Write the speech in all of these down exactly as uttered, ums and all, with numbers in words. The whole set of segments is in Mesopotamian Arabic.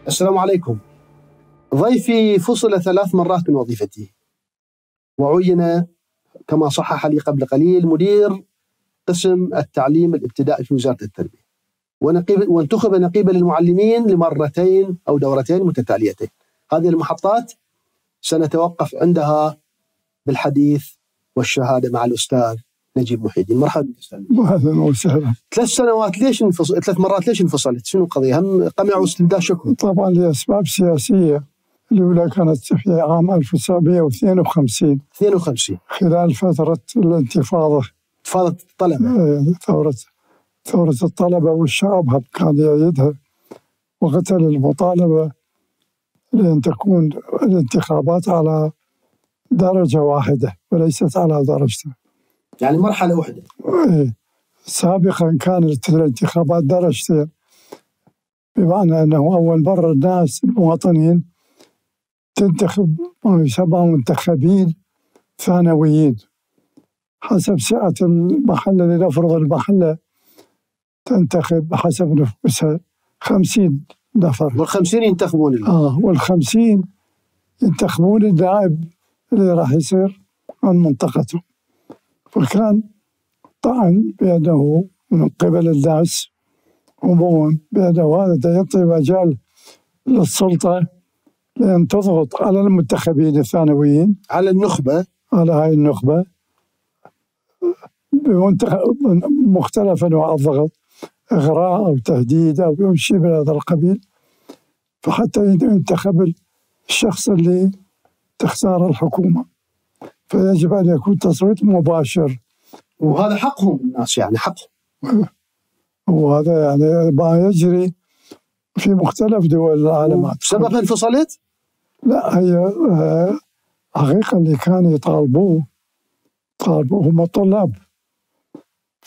السلام عليكم. ضيفي فصل ثلاث مرات من وظيفته، وعين كما صحح لي قبل قليل مدير قسم التعليم الابتدائي في وزارة التربية، وانتخب نقيبا للمعلمين لمرتين أو دورتين متتاليتين. هذه المحطات سنتوقف عندها بالحديث والشهادة مع الأستاذ نجيب محي الدين. مرحبا أستاذ. اهلا وسهلا. ثلاث سنوات ليش انفصل؟ ثلاث مرات ليش انفصلت؟ شنو القضية؟ هم قمع واستمداد شكر؟ طبعا لأسباب سياسية. الأولى كانت في عام ألف وتسعمئة واثنين وخمسين اثنين وخمسين خلال فترة الانتفاضة، انتفاضة الطلبة، ثورة ثورة الطلبة والشعب كان يأيدها، وقتل المطالبة لأن تكون الانتخابات على درجة واحدة وليست على درجتين، يعني مرحلة واحدة. سابقا كانت الانتخابات درجتين، بمعنى أنه أول مرة الناس المواطنين تنتخب ما يسمى منتخبين ثانويين حسب سعة المحلة. لنفرض المحلة تنتخب حسب نفوسها خمسين نفر، والخمسين ينتخبون آه والخمسين ينتخبون النائب اللي راح يصير عن منطقته. فكان طعن بأنه من قبل الناس عموما بأنه هذا يعطي مجال للسلطة لأن تضغط على المنتخبين الثانويين، على النخبة، على هاي النخبة بمختلف أنواع الضغط، إغراء أو تهديد أو شيء من هذا القبيل، فحتى ينتخب الشخص اللي تختار الحكومة. فيجب أن يكون تصويت مباشر، وهذا حقهم الناس، يعني حقهم، وهذا يعني ما يجري في مختلف دول العالم. سببها انفصلت؟ لا، هي حقيقة اللي كانوا يطالبوه طالبوه هم الطلاب.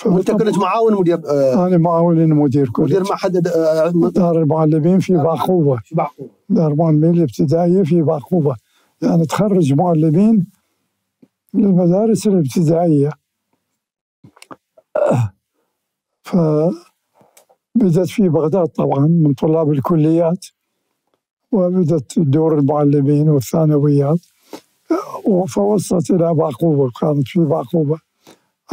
وانت كنت معاون مدير؟ آه انا معاون المدير، كنت مدير معهد آه دار المعلمين في بعقوبة. في بعقوبة دار المعلمين الابتدائية في بعقوبة، يعني تخرج معلمين للمدارس الابتدائية. فبدت في بغداد طبعا من طلاب الكليات، وبدت دور المعلمين والثانويات، فوصلت إلى بعقوبة. كانت في بعقوبة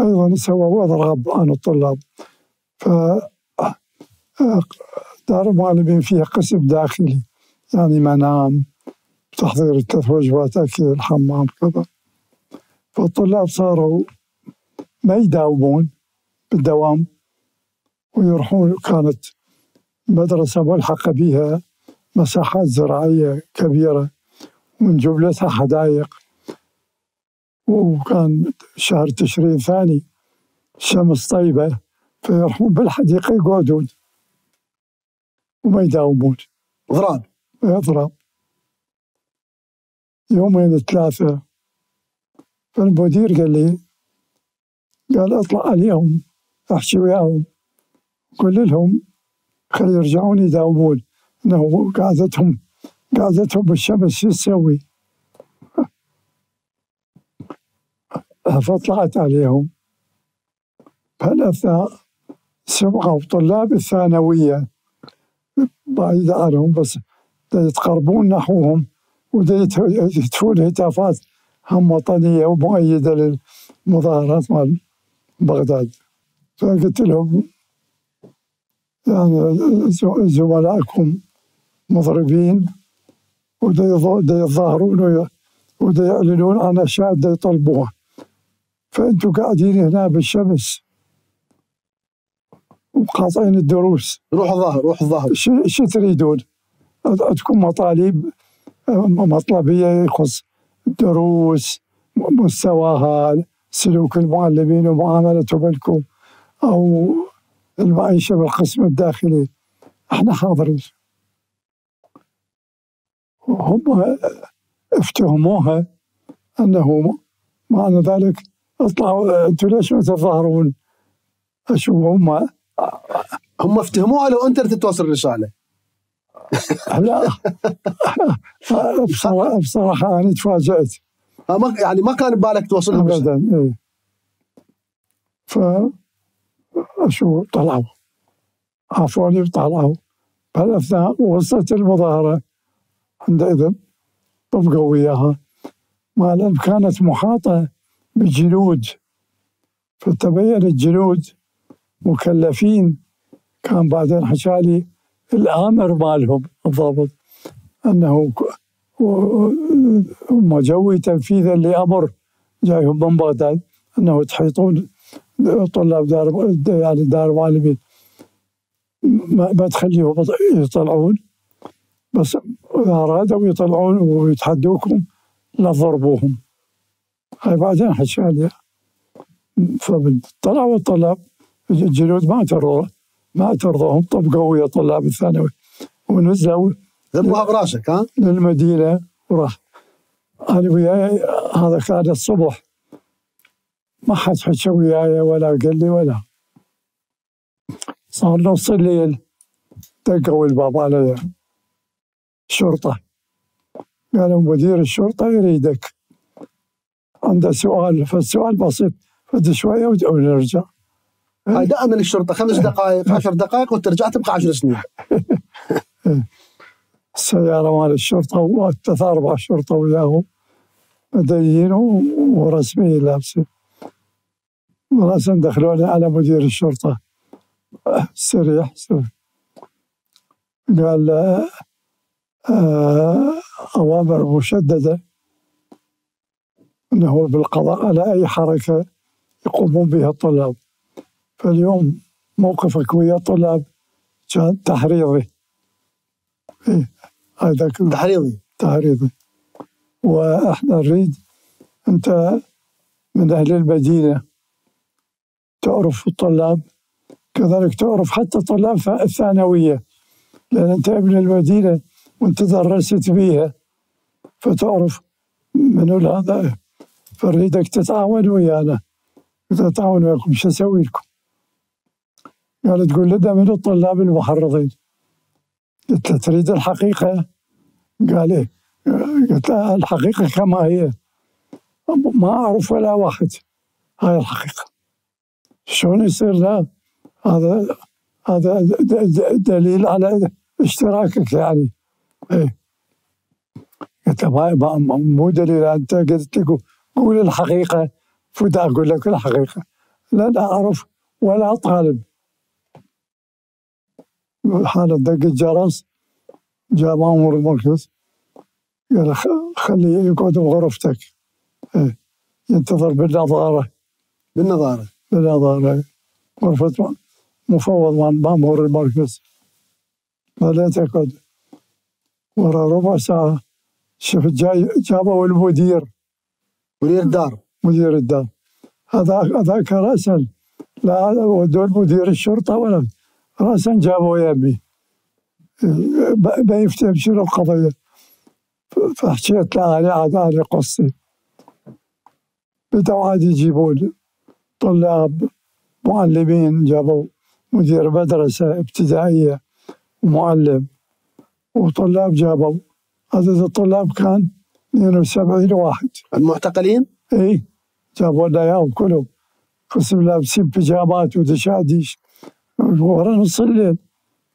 أيضا سووا إضراب عن الطلاب. فدار المعلمين فيها قسم داخلي، يعني منام، تحضير ثلاث وجبات أكل، الحمام، كذا. فالطلاب صاروا ما يداومون بالدوام ويروحون. كانت مدرسة ملحقة بها مساحات زراعية كبيرة ومن جملتها حدائق، وكان شهر تشرين ثاني، الشمس طيبة، فيروحون بالحديقة يقعدون وما يداومون. إضراب إضراب يومين ثلاثة. فالمدير قال لي، قال اطلع اليوم احكي وياهم، قل لهم خلي يرجعون يداومون، انه قعدتهم قعدتهم بالشمس شو تسوي؟ فطلعت عليهم. فالأثناء سمعوا طلاب الثانوية بعيد عنهم بس يتقربون نحوهم ويهتفون هتافات هم وطنية ومؤيدة للمظاهرات مال بغداد. فقلت لهم يعني زملائكم مضربين ودا يتظاهرون ودا يعلنون عن أشياء دا يطلبوها، فأنتوا قاعدين هنا بالشمس وقاطعين الدروس. روح الظاهر روح الظاهر شو تريدون؟ عندكم مطالب مطلبية يخص الدروس، مستواها، سلوك المعلمين ومعاملتهم لكم، أو المعيشة بالقسم الداخلي، احنا حاضرين. هم افتهموها أنه معنى ذلك اطلعوا انتوا ليش ما تتظاهرون؟ اشوف هم هم افتهموها لو انت تتوصل الرسالة. لا بصراحة, بصراحة أنا تفاجأت. يعني ما كان ببالك توصل أبدا. إيه. ف شو طلعوا عفوني وطلعوا بهالأثناء وصلت المظاهرة عندئذ طبقوا وياها، مع الأن كانت محاطة بالجنود، فتبين الجنود مكلفين. كان بعدين حكالي الآمر مالهم الضابط أنه هم جوي تنفيذا لأمر جايهم من بغداد أنه تحيطون طلاب دار يعني دار المعلمين، ما تخليهم يطلعون، بس إذا أرادوا يطلعون ويتحدوكم لا ضربوهم. هاي بعدين حكالي. فطلعوا الطلاب الجنود ما ترضوا ما ترضوهم، طبقوا ويا طلاب الثانوي ونزلوا ذبوها براسك ها للمدينة وراح. أنا وياي هذا كان الصبح، ما حد حكى وياي ولا قال لي ولا. صار نص الليل دقوا الباب على الشرطة، قالوا مدير الشرطة يريدك، عنده سؤال، فالسؤال بسيط، فد شوية ونرجع. هاي دائما الشرطة خمس دقائق عشر دقائق وترجع تبقى عشر سنين. السيارة مال الشرطة وثلاث أربع شرطة وياهم مدنيين ورسميين لابسين، وراسا دخلوني على مدير الشرطة سريح سريح. قال آه أوامر مشددة أنه بالقضاء على أي حركة يقومون بها الطلاب. فاليوم موقفك ويا الطلاب كان تحريضي. إيه هذا تحريضي تحريضي. وإحنا نريد، أنت من أهل المدينة تعرف الطلاب، كذلك تعرف حتى طلاب الثانوية، لأن أنت ابن المدينة وأنت درست بيها فتعرف من هذا، فنريدك تتعاون ويانا. تتعاون وياكم شو أسوي لكم؟ قال تقول لنا من الطلاب المحرضين. قلت له تريد الحقيقة؟ قال إيه. قلت له الحقيقة كما هي، ما أعرف ولا واحد، هاي الحقيقة. شلون يصير لا؟ هذا هذا دليل على اشتراكك يعني. إيه. قلت له مو دليل، أنت قلت لك قول الحقيقة فدا أقول لك الحقيقة. لا لا أعرف ولا طالب. حالا دق الجرس، جاء مأمور المركز قال خليه يقعد بغرفتك. إيه. ينتظر بالنظارة بالنظارة بالنظارة غرفة مفوض مأمور المركز. خليته يقعد. ورا ربع ساعة شفت جاي جابوا المدير مدير الدار مدير الدار هذا هذاك رأسا، لا ودول مدير الشرطة ولا رأسا جابوا يمي بيفتهم شنو القضية. فحكيت له أنا عاد أنا قصتي. بدأوا عاد يجيبون طلاب معلمين، جابوا مدير مدرسة ابتدائية ومعلم، وطلاب جابوا عدد الطلاب كان اثنين وسبعين واحد. المعتقلين؟ اي جابوا لنا اياهم كلهم، قسم لابسين بيجامات ودشاديش. ورا نص الليل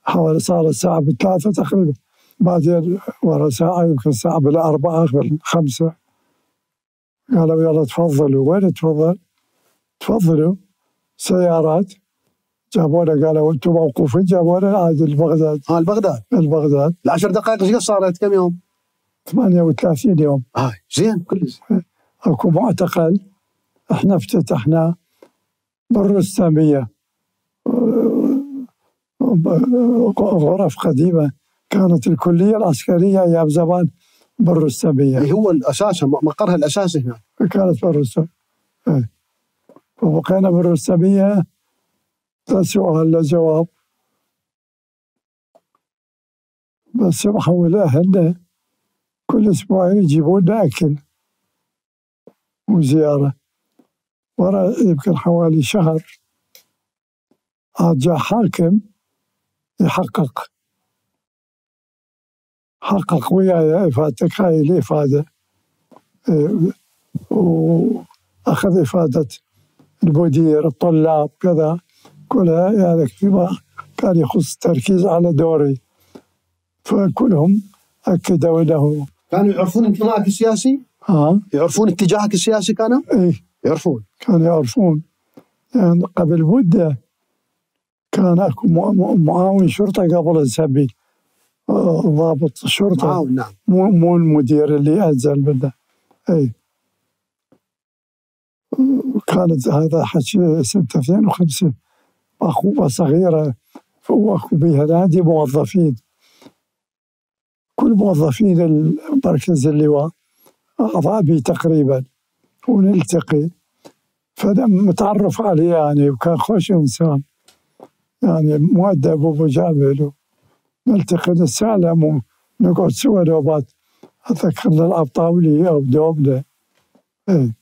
حوالي صار الساعة بالثلاثة تقريبا، بعدين ورا ساعة يمكن الساعة بالأربعة بالخمسة قالوا يلا تفضلوا. وين تفضل؟ تفضلوا سيارات جابونا، قالوا انتم موقوفين، جابونا عاد البغداد. اه البغداد البغداد العشر دقائق ايش صارت؟ كم يوم؟ ثمانية وثلاثين يوم. اه زين كلش. اكو معتقل احنا افتتحناه بالرستامية، غرف قديمة كانت الكلية العسكرية ايام زمان بالرستامية. هو الاساس مقرها الاساسي هنا كانت بالرستامية. وبقينا بالرستامية. لا سؤال لا جواب، بس محول أهلنا كل أسبوعين يجيبون لنا أكل وزيارة. ورا يمكن حوالي شهر عاد جاء حاكم يحقق حقق وياي إفادتك، هاي الإفادة، وأخذ إفادة المدير الطلاب كذا كلها، يعني فيما كان يخص التركيز على دوري فكلهم أكدوا له. كانوا يعرفون انتمائك السياسي؟ ها؟ يعرفون اتجاهك السياسي كانوا؟ إيه يعرفون. كانوا يعرفون. يعني قبل مدة كان اكو معاون شرطة قبل السبي، ضابط شرطة. معاون نعم. مو مو المدير اللي أنزل منه. اي كانت هذا حكي سنة اثنين وخمسين، أخوة صغيرة وأكو بيها نادي موظفين، كل موظفين المركز اللواء أعضاء بي تقريبا، ونلتقي. فلما متعرف عليه يعني، وكان خوش إنسان يعني، مؤدب ومجامل، نلتقي نتسالم ونقعد سوا نوبات، أتذكر نلعب طاولة أو دومنة. إيه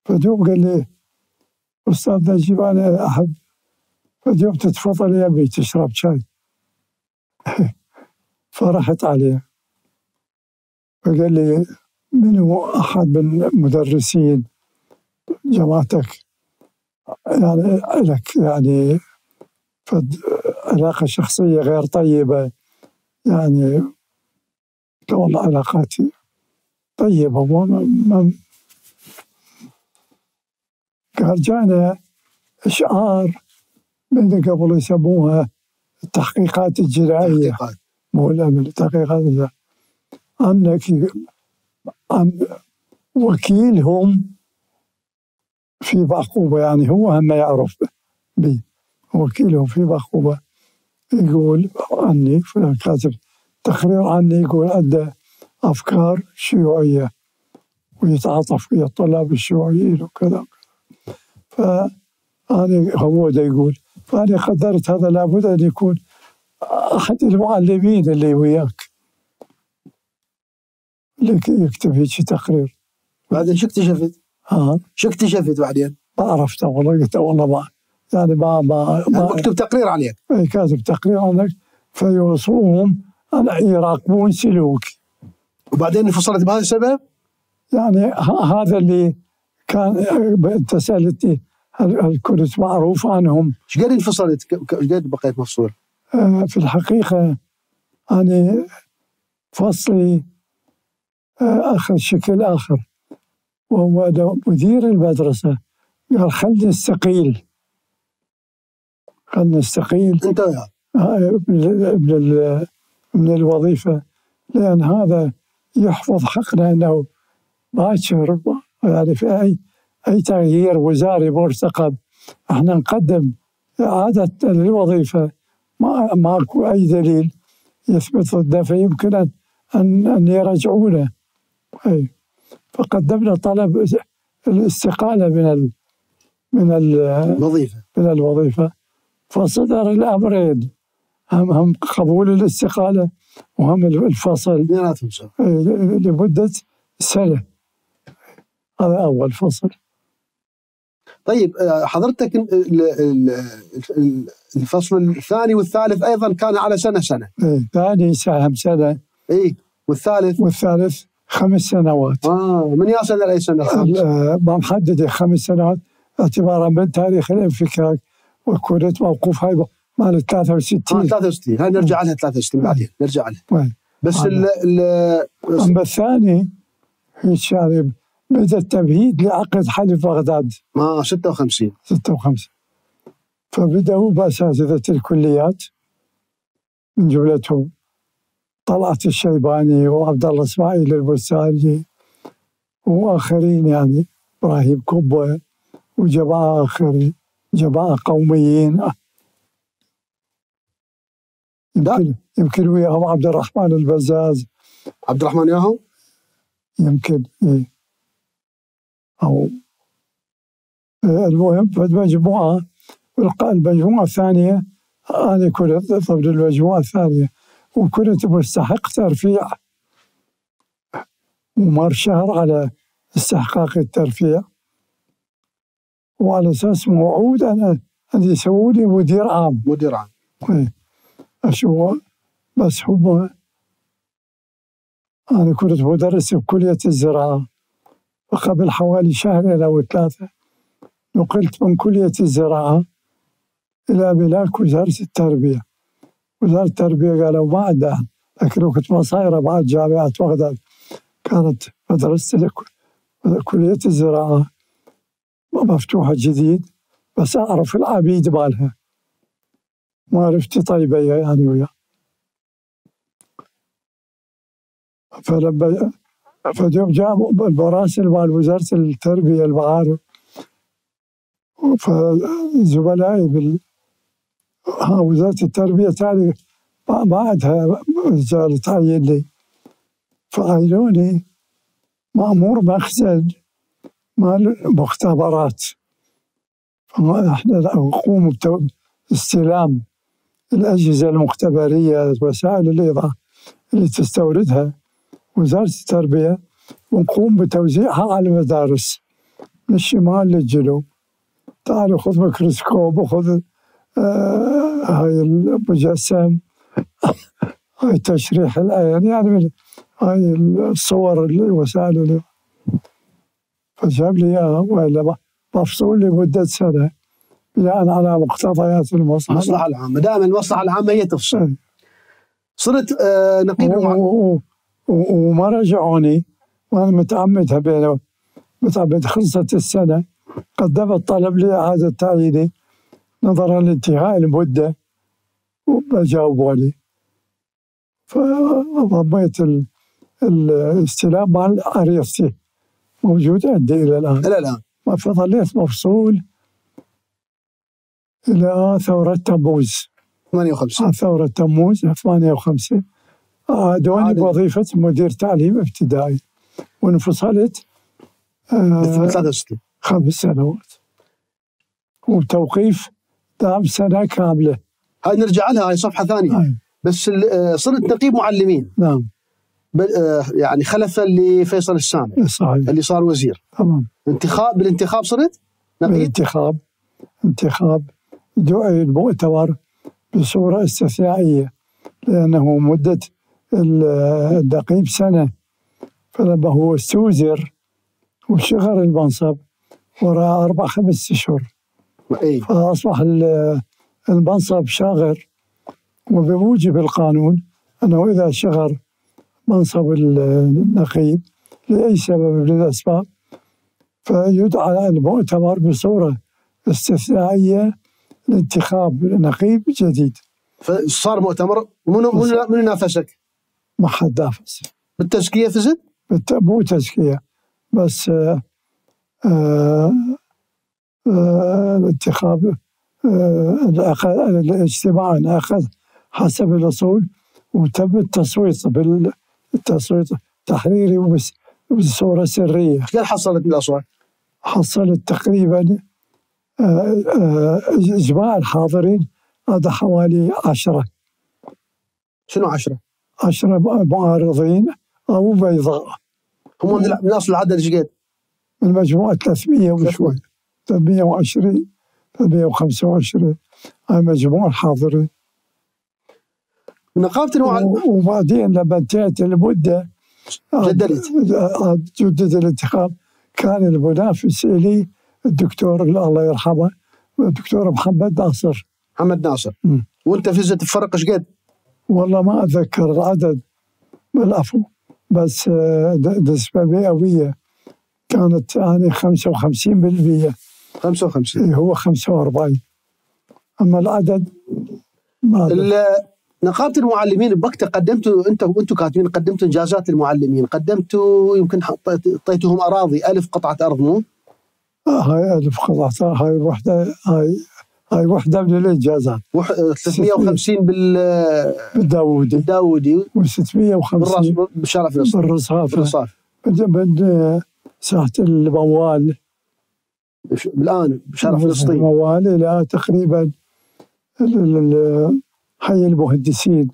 فدوم قال لي أستاذ نجيب أنا أحب فدوم تتفضل يا أبي تشرب شاي. فرحت عليه فقال لي من هو أحد من المدرسين جماعتك يعني لك يعني فد علاقة شخصية غير طيبة يعني؟ والله علاقاتي طيبة. وما قال جانا إشعار من قبل يسموها التحقيقات الجنائية، مو الأمن، التحقيقات الجنائية، أنك أن وكيلهم في بعقوبة، يعني هو هم يعرف بي، وكيلهم في بعقوبة يقول عني، فلان كاتب تقرير عني يقول عنده أفكار شيوعية ويتعاطف ويا الطلاب الشيوعيين وكذا. فأنا هو ده يقول، فأنا قدرت هذا لابد أن يكون أحد المعلمين اللي وياك اللي يكتب هيك تقرير. بعدين شو اكتشفت؟ ها؟ شو اكتشفت بعدين؟ ما عرفت والله، قلت والله ما يعني ما ما, ما مكتوب تقرير عليك. اي كاتب تقرير عنك، فيوصوهم أن يراقبون سلوك. وبعدين انفصلت بهذا السبب؟ يعني هذا اللي كان. انت سألتني هل كنت معروف عنهم؟ ايش قد انفصلت؟ ايش قد بقيت مفصول؟ آه في الحقيقة أنا فصلي آه أخذ شكل آخر، وهو مدير المدرسة قال خلنا نستقيل، خلنا نستقيل انت وياه من من الوظيفة، لأن هذا يحفظ حقنا أنه باكر يعني في أي أي تغيير وزاري مرتقب احنا نقدم إعادة للوظيفة، ما ماكو أي دليل يثبت ضده، فيمكن أن أن, أن يرجعونه. أي فقدمنا طلب الاستقالة من ال من الوظيفة من الوظيفة، فصدر الأمرين، هم هم قبول الاستقالة وهم الفصل لمدة سنة. هذا أول فصل. طيب حضرتك الفصل الثاني والثالث أيضا كان على سنة سنة؟ الثاني ساهم سنة. إيه والثالث؟ والثالث خمس سنوات. آه من يا سنة لأي سنة؟ ما محدد خمس سنوات اعتبارا من تاريخ الانفكاك، وكنت موقوف هاي مال ثلاثة وستين. آه ثلاثة وستين، هاي نرجع لها ثلاثة وستين بعدين نرجع لها. وين. بس ال ال أما الثاني هيك يعني بدأ التمهيد لعقد حلف بغداد. اه ستة وخمسين. ستة وخمسين. فبدأوا بأساتذة الكليات من جملتهم طلعت الشيباني وعبد الله اسماعيل البستاني وآخرين، يعني إبراهيم كبة وجماعة آخرين، جماعة قوميين يمكن يمكن وياهم عبد الرحمن البزاز. عبد الرحمن وياهم؟ يمكن إيه. أو المهم فالمجموعة المجموعة الثانية أنا كنت ضمن المجموعة الثانية، وكنت مستحق ترفيع ومر شهر على استحقاق الترفيع، وعلى أساس موعود أنا أن يسووني مدير عام. مدير عام. أشو بس هم أنا كنت مدرس بكلية الزراعة، وقبل حوالي شهرين أو ثلاثة نقلت من كلية الزراعة إلى ملاك وزارة التربية. وزارة التربية قالوا ما عندها لكن وقت ما صايرة بعد جامعة بغداد كانت مدرسة كلية الزراعة مفتوحة جديد، بس أعرف العبيد مالها، معرفتي طيبة يعني وياه. فلما فيوم جاء المراسل مال وزارة التربية المعارف، فزملائي بال وزارة التربية تالي ما عندها رجال تعين لي، فعينوني مأمور مخزن مال مختبرات. احنا نقوم باستلام الأجهزة المختبرية، وسائل الإيضاح اللي تستوردها وزارة التربية، ونقوم بتوزيعها على المدارس من الشمال للجنوب. تعالوا خذ ميكروسكوب وخذ آه هاي المجسم، هاي تشريح العين، يعني هاي الصور الوسائل اللي فجاب لي اياها، والا مفصول لمدة سنة بناء على مقتضيات المصلحة المصلحة العامة. دائما المصلحة العامة هي تفصل. صرت آه نقيب وما رجعوني، وانا متعمدها بينه متعمد. خلصت السنة قدمت طلب لإعادة تعييني نظرا لانتهاء المدة وما جاوبوني، فضميت الاستلام مال عريضتي موجود عندي إلى الآن. إلى الآن فظليت مفصول إلى ثورة تموز ثمانية وخمسين. ثورة تموز ثمانية وخمسين عادوني بوظيفة مدير تعليم ابتدائي، وانفصلت آه ثلاثة وستين خمس سنوات، وتوقيف دام سنة كاملة. هاي نرجع لها، هاي صفحة ثانية. هاي. بس صرت نقيب معلمين. نعم. يعني خلفا لفيصل السامع صحيح. اللي صار وزير. تمام. انتخاب بالانتخاب صرت نقيب؟ بالانتخاب انتخاب دعي المؤتمر بصورة استثنائية، لأنه مدة النقيب سنة، فلما هو استوزر وشغل المنصب وراء أربع خمس أشهر فأصبح المنصب شاغر، وبموجب القانون أنه إذا شغر منصب النقيب لأي سبب من الأسباب فيدعى المؤتمر بصورة استثنائية لانتخاب نقيب جديد. فصار مؤتمر. منو منو نافسك؟ ما حد نافس. بالتزكية فزت؟ مو تزكية، بس آآ آآ آآ الانتخاب الاجتماع انعقد حسب الأصول، وتم التصويت بالتصويت تحريري وبصورة سرية. كم حصلت من الأصوات؟ حصلت تقريبا إجماع الحاضرين هذا حوالي عشرة. شنو عشرة؟ عشرة معارضين أو بيضاء. هم من أصل العدد ايش قد؟ من مجموعة ثلاثمئة وشوي، ثلاثمئة وعشرين ثلاثمئة وخمسة وعشرين هاي مجموع الحاضرين. نقابة المعلمين. وبعدين لما انتهت المدة جددت جدد الانتخاب، كان المنافس لي الدكتور الله يرحمه الدكتور محمد ناصر. محمد ناصر. م. وانت فزت بفرق ايش قد؟ والله ما اتذكر العدد بالعفو، بس نسبة مئوية كانت يعني خمسة وخمسين بالمئة. خمسة وخمسين. هو خمسة وأربعين، اما العدد ما نقابة المعلمين بوقتها قدمتوا انت وانتم كاتبين قدمتوا انجازات للمعلمين، قدمتوا يمكن اعطيتهم اراضي ألف قطعة ارض مو؟ هاي ألف قطعة، هاي وحدة هاي هاي وحدة من الإنجازات. وح... ثلاثمئة وخمسين بال بالداودي بالداودي وستمئة وخمسين بالشارع فلسطين بالرصافة من ساحة الموال الآن بشارع فلسطين الموال إلى تقريبا حي المهندسين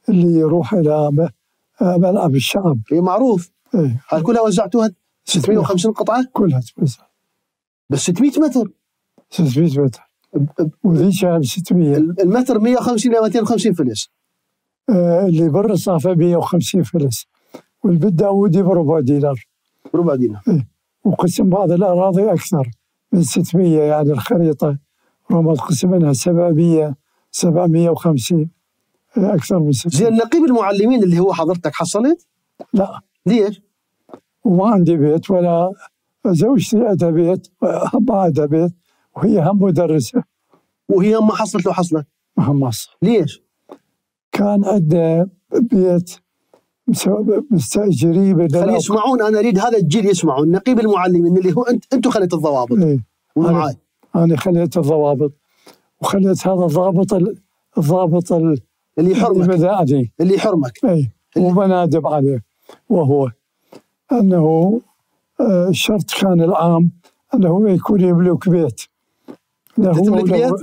اللي يروح إلى ملعب الشعب. هي معروف. ايه. هاي كلها وزعتوها ستمئة وخمسين قطعة؟ كلها توزع. بس ستمئة متر. ستمئة متر. وذيك ستمئة. المتر مئة وخمسين إلى مئتين وخمسين فلس. آه اللي بالرصافة مئة وخمسين فلس، والبالداودي بربع دينار. بربع دينار. إيه. وقسم بعض الأراضي أكثر من ستمئة، يعني الخريطة رمض قسم منها سبعمئة سبعمئة وخمسين أكثر من ست. زين نقيب المعلمين اللي هو حضرتك حصلت؟ لا. ليش؟ وما عندي بيت، ولا زوجتي عندها بيت، ما عندها بيت، وهي هم مدرسة. وهي ما حصلت لو حصلت؟ ما هم حصل. ليش؟ كان عندها بيت مستأجريه بدل. خلي يسمعون، أنا أريد هذا الجيل يسمعون. نقيب المعلمين اللي هو أنت أنتم خليت الضوابط. إيه. ومعاي أنا خليت الضوابط، وخليت هذا الضابط الضابط اللي يحرمك البدائي اللي يحرمك اي وبنادب عليه، وهو انه الشرط كان العام انه يكون يملك بيت له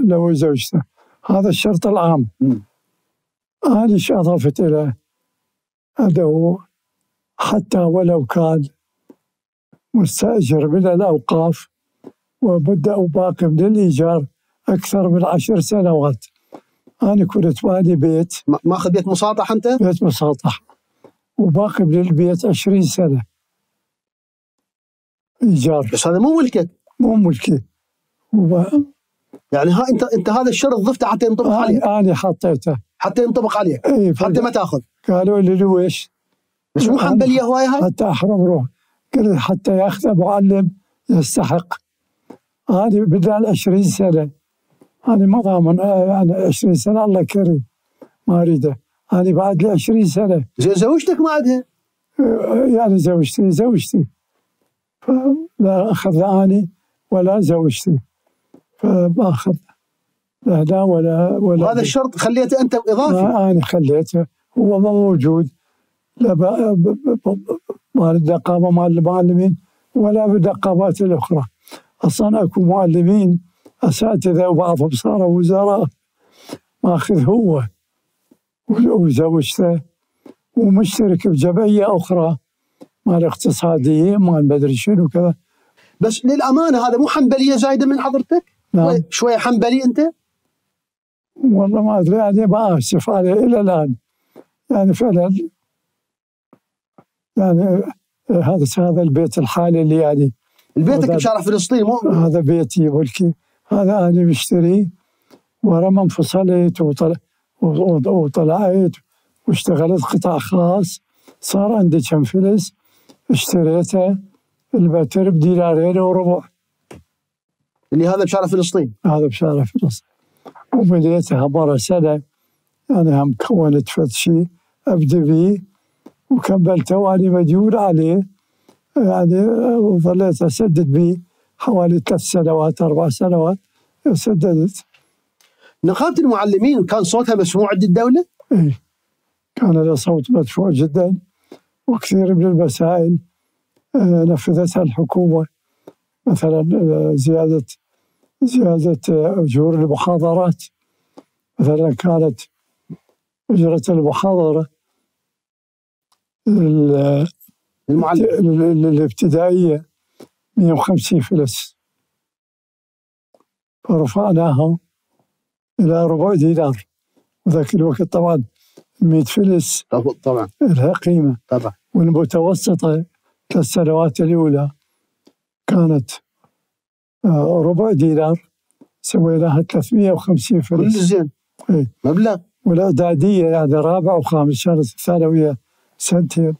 له وزوجته. هذا الشرط العام. أنا ايش اضفت اليه؟ انه حتى ولو كان مستأجر من الأوقاف ومدة باقي من الإيجار أكثر من عشر سنوات، أنا كنت مالي بيت. ماخذ بيت مساطح أنت؟ بيت مساطح، وباقي من البيت عشرين سنة إيجار. بس هذا مو ملكك. مو ملكي. وب... يعني ها أنت أنت هذا الشرط ضفته حتى ينطبق آه عليك. أنا حطيته حتى ينطبق عليك. ايه حتى ما تاخذ. قالوا لي ليش؟ بس مو حنبلية هواية هاي؟ حتى أحرم روح. قلت حتى ياخذ معلم يستحق. هذه بدال عشرين سنة، أنا ما ضامن يعني عشرين سنة، الله كريم ما أريده، أنا بعد لي عشرين سنة. زين زوجتك ما عندها؟ يعني زوجتي زوجتي فلا أخذ لا أنا ولا زوجتي، فما أخذ لا لا ولا ولا. وهذا الشرط خليته أنت إضافي؟ أنا خليته، هو ما موجود لا مال النقابة مال المعلمين ولا بالنقابات الأخرى. أصلا أكو معلمين أساتذة وبعضهم صاروا وزراء ماخذ هو وزوجته، ومشترك بجمعية أخرى مال اقتصاديين مال مدري شنو كذا. بس للأمانة هذا مو حنبلية زايدة من حضرتك؟ نعم. شوية حنبلي أنت؟ والله ما أدري، يعني ما أسف عليه إلى الآن. يعني فعلا يعني هذا هذا البيت الحالي اللي يعني بيتك بشارع فلسطين مو؟ هذا بيتي ملكي، هذا أنا مشتريه، ورا ما انفصلت وطلع وطلعت واشتغلت قطاع خاص صار عندي كم فلس اشتريته المتر بدينارين وربع. اللي هذا بشارع فلسطين؟ هذا بشارع فلسطين. وبنيتها مرة سنة، أنا هم كونت فد شيء أبدي به وكملته وأنا مديون عليه، يعني وظليت أسدد به حوالي ثلاث سنوات أربع سنوات سددت. نقابة المعلمين كان صوتها مسموع عند الدولة؟ إيه كان له صوت مدفوع جدا، وكثير من المسائل نفذتها الحكومة، مثلا زيادة زيادة أجور المحاضرات. مثلا كانت أجرة المحاضرة الابتدائية مئة وخمسين فلس، فرفعناها إلى ربع دينار، وذاك الوقت طبعا مئة فلس طبعا لها قيمة طبعا. والمتوسطة كالسنوات الأولى كانت ربع دينار، سويناها ثلاثمئة وخمسين فلس. كل زين. ايه مبلغ. والإعدادية يعني رابع وخامس كانت الثانوية سنتين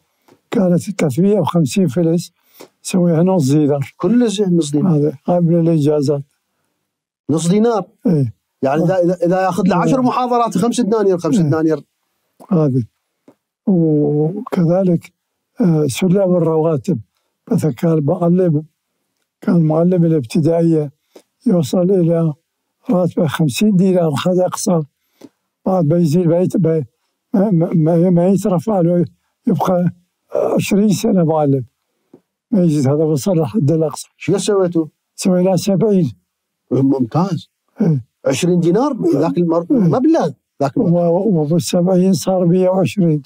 كانت ثلاثمئة وخمسين فلس، سويها نص دينار. كل زين نص دينار. هذا قبل الإجازات. نص دينار. ايه يعني إذا إذا ياخذ له عشر محاضرات خمس دنانير خمس دنانير. هذه. وكذلك سلم الرواتب، مثلا كان معلم كان معلم الابتدائية يوصل إلى راتبه خمسين دينار حد أقصى، بعد ما يزيد ما ما, ما يترفع له يبقى عشرين سنة معلم ما يزيد، هذا وصل لحد الأقصى. شو سويتوا؟ سوينا سبعين. ممتاز. ايه. عشرين دينار ذاك المر... مبلغ ذاك وبالسبعين صار مئة وعشرين.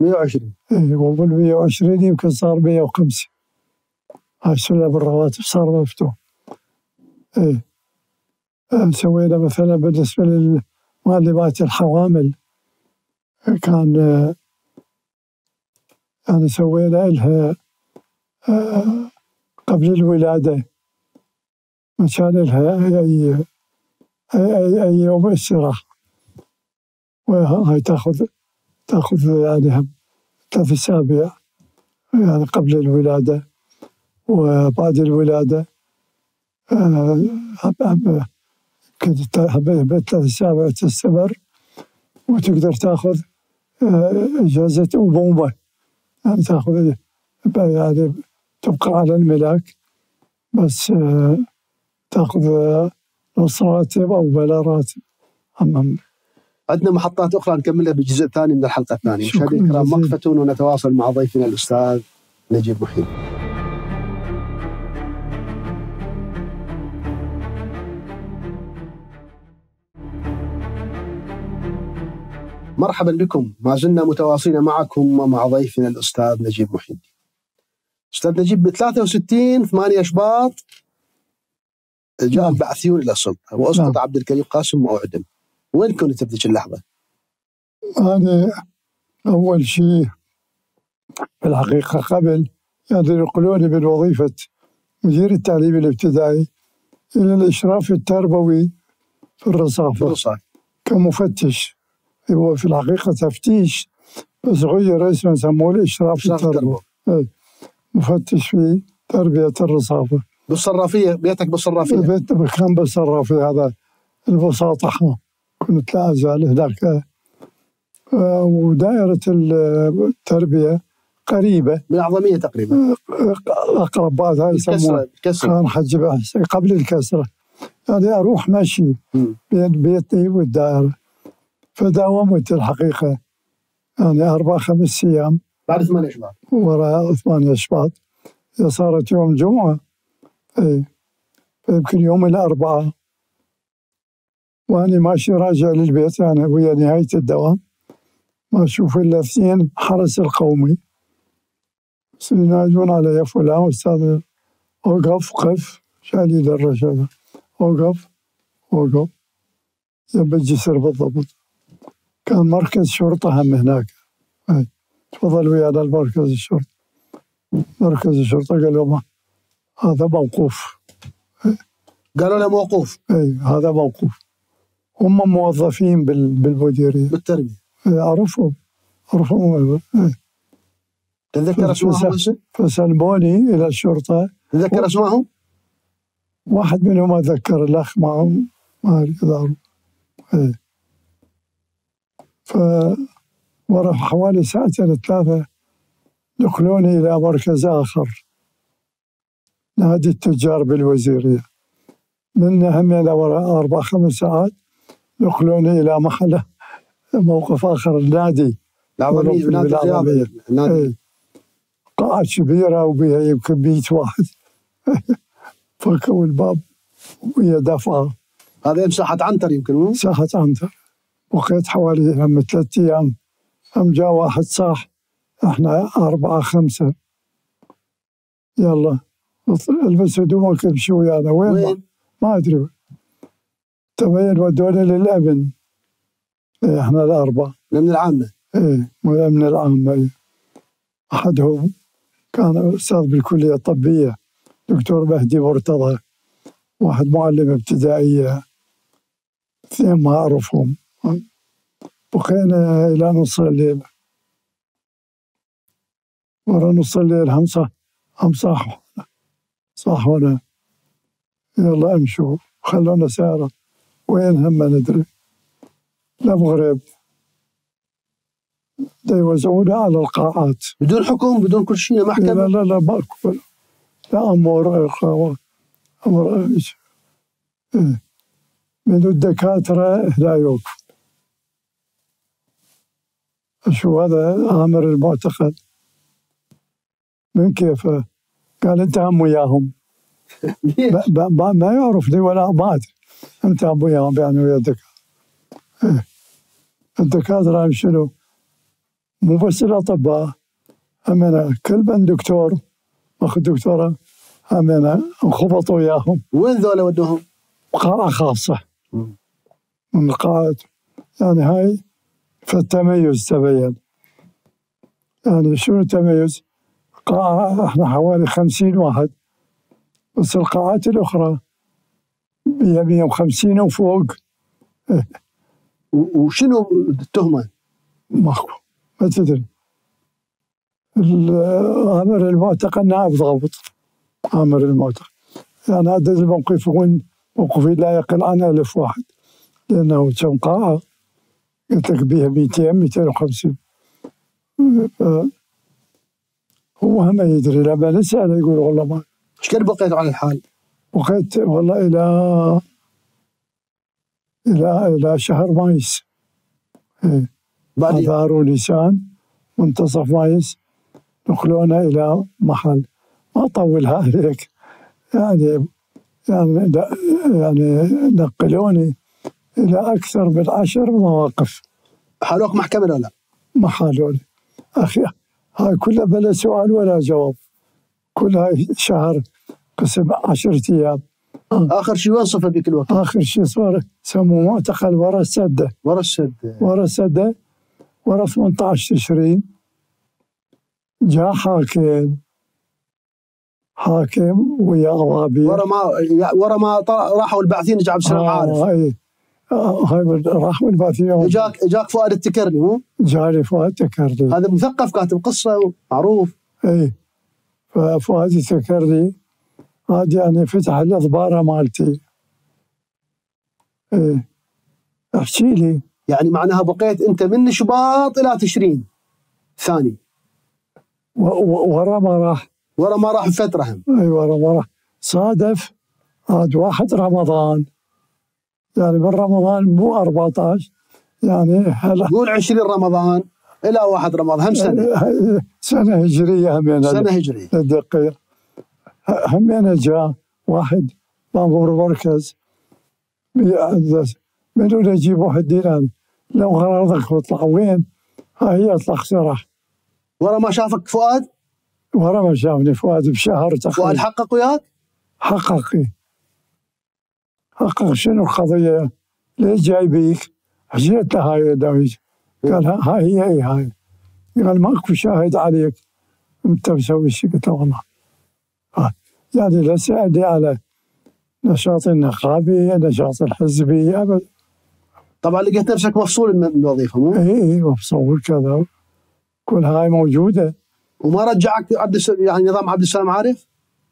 مئة وعشرين. ايه وبالمئة وعشرين يمكن صار مئة وخمسين. هاي سلم الرواتب صار مفتوح. ايه. سوينا مثلا بالنسبة للمعلمات الحوامل، كان يعني سوينا لها قبل الولادة مشان لها أي أي أي يوم استراحة. وهاي تاخذ تاخذ يعني ثلاث أسابيع يعني قبل الولادة وبعد الولادة. كنت ثلاث أسابيع تستمر، وتقدر تاخذ إجازة أبوة، يعني تاخذ يعني تبقى على الملاك بس تاخذ نص راتب أو بلا راتب. عندنا محطات أخرى نكملها بالجزء الثاني من الحلقة الثانية. مشاهدينا الكرام وقفة ونتواصل مع ضيفنا الأستاذ نجيب محي. مرحبا بكم، ما زلنا متواصلين معكم ومع ضيفنا الأستاذ نجيب محي. أستاذ نجيب، ب ثلاثة وستين ثمانية شباط جاء البعثيون إلى السلطة وأسقط عبد الكريم قاسم وأعدم. وين كنت بذيك اللحظة؟ أنا أول شيء في الحقيقة قبل يعني ينقلوني من وظيفة مدير التعليم الابتدائي إلى الإشراف التربوي في الرصافة كمفتش. هو في الحقيقة تفتيش بس غير اسمه سموه الإشراف التربوي. مفتش في تربية الرصافة. بالصرافية؟ بيتك بالصرافية؟ بيت كان بالصرافية، هذا البساطة. كنت لا أزال هناك. ودائرة التربية قريبة من الأعظمية تقريبا، أقرب بعد هاي يسموها كان حج قبل الكسرة. يعني أروح ماشي بين بيتي والدائرة. فداومت الحقيقة يعني أربع خمس أيام بعد ثمانية شباط، وراء ثمانية شباط. إذا صارت يوم جمعة أي يمكن يوم الأربعاء وأنا ماشي راجع للبيت يعني ويا نهاية الدوام ما أشوف إلا اثنين حرس القومي ينادون علي: يا فلان أستاذ أوقف قف، شالي للرشادة أوقف أوقف جنب الجسر بالضبط. كان مركز شرطة هم هناك. تفضل ويانا المركز الشرطة. مركز الشرطة قالوا ما هذا موقوف. قالوا له موقوف؟ اي هذا موقوف. هم موظفين بالمديرية بالتربية. أعرفهم أعرفهم. تتذكر اسمائهم؟ فسلموني إلى الشرطة. تتذكر اسمائهم؟ واحد منهم أتذكر، الأخ معهم ما أعرف. اي فورا حوالي ساعتين ثلاثة نقلوني إلى مركز آخر، نادي التجار بالوزيرية. من هم إلى ورا أربع خمس ساعات نقلوني إلى محل موقف آخر، النادي العظمية، نادي الرياضة. ايه قاعة كبيرة وبها يمكن مئة واحد. فكوا الباب وهي دفعة. هذا مساحة عنتر يمكن مو؟ مساحة عنتر. بقيت حوالي هم ثلاثة أيام. هم جاء واحد صاح احنا أربعة خمسة، يلا البس هدومك امشي ويانا. وين؟ وين؟ ما أدري. تبين ودونا للأمن. ايه احنا الأربعة. من العامة؟ ايه من العامة. ايه. أحدهم كان أستاذ بالكلية الطبية دكتور مهدي مرتضى، واحد معلم ابتدائية، اثنين ما أعرفهم. بقينا إلى نص الليل. ورا نص الليل هم صح هم صح صاحونا يلا امشوا خلونا سيارة. وين هم ما ندري. المغرب يوزعونا على القاعات بدون حكم بدون كل شيء محكمة. لا لا لا ماكو لا أمور أمر إيش من الدكاترة لا يوقف. شو هذا آمر المعتقد من كيفه؟ قال أنت هم وياهم. ما يعرفني ولا ما أدري. أنت هم وياهم يعني ويا الدكاترة. الدكاترة هم شنو؟ مو بس الأطباء، هم أنا كل من دكتور أخذ دكتورة هم أنا انخبطوا وياهم. وين ذولا ودوهم؟ قاعة خاصة من القاعات. يعني هاي فالتميز تبين. يعني شنو التميز؟ قاعة احنا حوالي خمسين واحد، بس القاعات الأخرى مئة مئة وخمسين وفوق. وشنو التهمه؟ ماكو، ما تدري. امر المعتقل نائب ضابط، امر المعتقل. يعني عدد الموقفون موقفي لا يقل عن ألف واحد، لأنه كم قاعة قلت لك بيها مئتين مئتين وخمسين. هو هم يدري، لما نسأله يقول والله ما. ايش قد بقيت على الحال؟ بقيت والله إلى إلى إلى شهر مايس. إيه. آذار ونيسان منتصف مايس نقلونا إلى محل. ما أطولها عليك، يعني يعني يعني نقلوني إلى أكثر من عشر مواقف. حالوك محكمة ولا لا؟ ما حالوني أخي، هاي كلها بلا سؤال ولا جواب، كلها شهر قسم عشرة أيام. آخر شيء وين صفى بك الوقت؟ آخر شيء صار سموه معتقل ورا السدة. ورا السدة ورا السدة ورا ثمانية عشر تشرين. جاء حاكم حاكم ويا ضابط ورا ما ورا ما راحوا البعثين جا عبد السلام آه عارف. هاي آه هاي راحوا البعثين. اجاك اجاك فؤاد التكرني مو؟ جاني فؤاد التكرني، هذا مثقف كاتب قصة معروف. اي ففؤاد التكرني هذا يعني فتح الاضباره مالتي. ايه احكي لي. يعني معناها بقيت انت من شباط الى تشرين ثاني. ورا ما راح ورا ما راح بفتره هم. اي ورا ما راح صادف عاد واحد رمضان، يعني من رمضان مو أربعة عشر، يعني هلا قول عشرين رمضان الى واحد رمضان هم سنه. سنه هجريه همين. سنه هجريه الدقيق همين. جاء واحد مامور مركز منو نجيب واحد دينار لو غرضك واطلع وين؟ هاي اطلع سرح. ورا ما شافك فؤاد؟ ورا ما شافني فؤاد بشهر تقريبا. فؤاد حقق وياك؟ حقق. حقق شنو القضية؟ ليش جاي بيك؟ حكيت له هاي داويج، قال هاي هي اي هاي. قال ماكو شاهد عليك انت مسوي شيء. قلت له والله يعني لا سألني على نشاط النقابي نشاط الحزبي ابدا. طبعا لقيت نفسك مفصول من الوظيفة مو؟ اي اي مفصول كذا، كل هاي موجودة. وما رجعك عبد يعني نظام عبد السلام عارف؟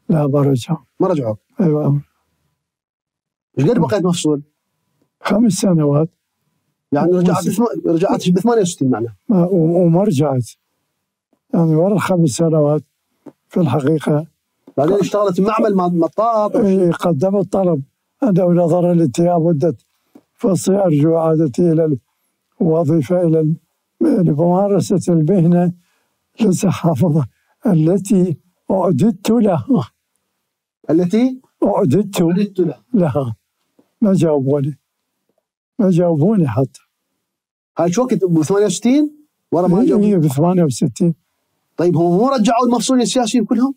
لا ما رجع. ما رجعوك؟ ايوه. ايش قد بقيت مفصول؟ خمس سنوات. يعني رجعت رجعت ب ثمانية وستين معناه. وما رجعت، يعني ورا الخمس سنوات في الحقيقة. بعدين اشتغلت بمعمل مطاط. اي قدمت طلب أنا ونظرا لانتهاء مدة فصلي أرجو إعادتي إلى الوظيفة إلى لممارسة المهنة للصحافة التي أعددت لها. التي أعددت لها. لها. ما جاوبوني، ما جاوبوني حتى. هاي شو وقت ب ثمانية وستين؟ ورا ما جاوبوني. اي ب ثمانية وستين. طيب هم مو رجعوا المفصولين السياسيين كلهم؟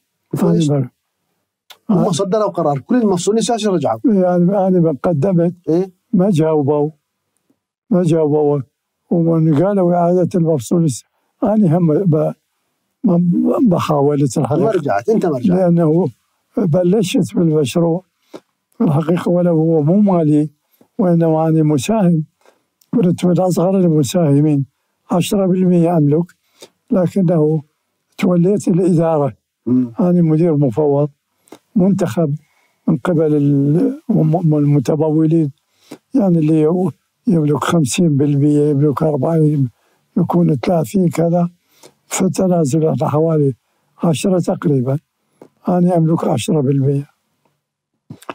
هم صدروا قرار كل المفصولين السياسيين رجعوا. يعني أنا قدمت إيه؟ ما جاوبوا ما جاوبوا ومن قالوا إعادة المفصول أنا هم بحاولت الحقيقة. ما رجعت أنت ما رجعت. لأنه بلشت بالمشروع في الحقيقة ولو هو مو مالي وإنما أنا مساهم، كنت من أصغر المساهمين عشرة بالمئة أملك، لكنه توليت الإدارة. م. أنا مدير مفوض منتخب من قبل المتمولين، يعني اللي يملك خمسين بالمئة يملك أربعين يكون ثلاثين كذا، فتنازل حوالي عشرة تقريبا. أنا أملك عشرة بالمئة،